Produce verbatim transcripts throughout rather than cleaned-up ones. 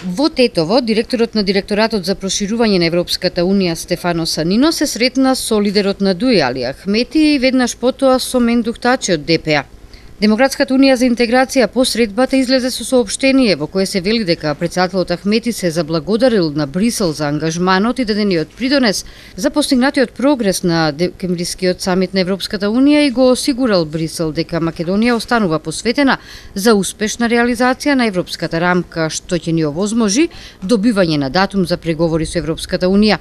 Во Тетово, директорот на Директоратот за проширување на Европската Унија Стефано Санино се сретна со лидерот на ДУИ Али Ахмети и веднаш потоа со Мендух Тачи од Д П А. Демократската унија за интеграција по средбата излезе со соопштение во кое се вели дека претседателот Ахмети се заблагодарил на Брисел за ангажманот и дадениот придонес за постигнатиот прогрес на декемврискиот самит на Европската унија и го осигурал Брисел дека Македонија останува посветена за успешна реализација на европската рамка, што ќе ни овозможи добивање на датум за преговори со Европската унија.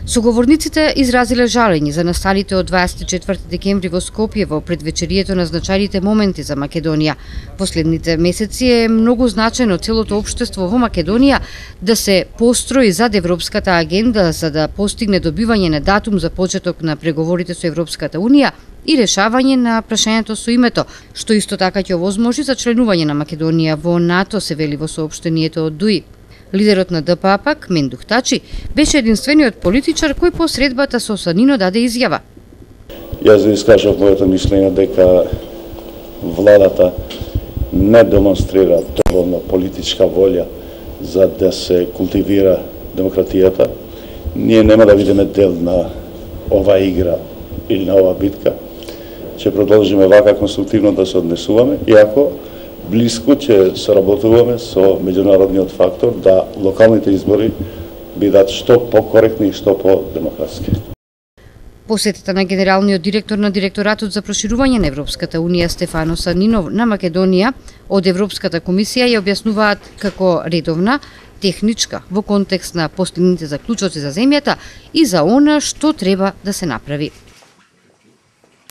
Соговорниците изразиле жалење за насталите од дваесет и четврти декември во Скопје во предвечерието на значајните моменти за Македонија. Последните месеци е многу значено целото општество во Македонија да се построи зад европската агенда за да постигне добивање на датум за почеток на преговорите со Европската унија и решавање на прашањето со името, што исто така ќе овозможи за членување на Македонија во НАТО, се вели во соопштението од ДУИ. Лидерот на Д П А пак, Мендух Тачи, беше единствениот политичар кој по средбата со Санино даде изјава. Јас да искажав моето мислење дека владата не демонстрира доволно политичка волја за да се култивира демократијата. Ние нема да видиме дел на ова игра или на ова битка. Ќе продолжиме вака конструктивно да се однесуваме, иако блиско ќе соработуваме со меѓународниот фактор да локалните избори бидат што покоректни и што по-демократски. Посетата на генералниот директор на Директоратот за проширување на Европската унија Стефано Санино на Македонија од Европската комисија ја објаснуваат како редовна, техничка во контекст на постигнатите заклучоци за земјата и за она што треба да се направи.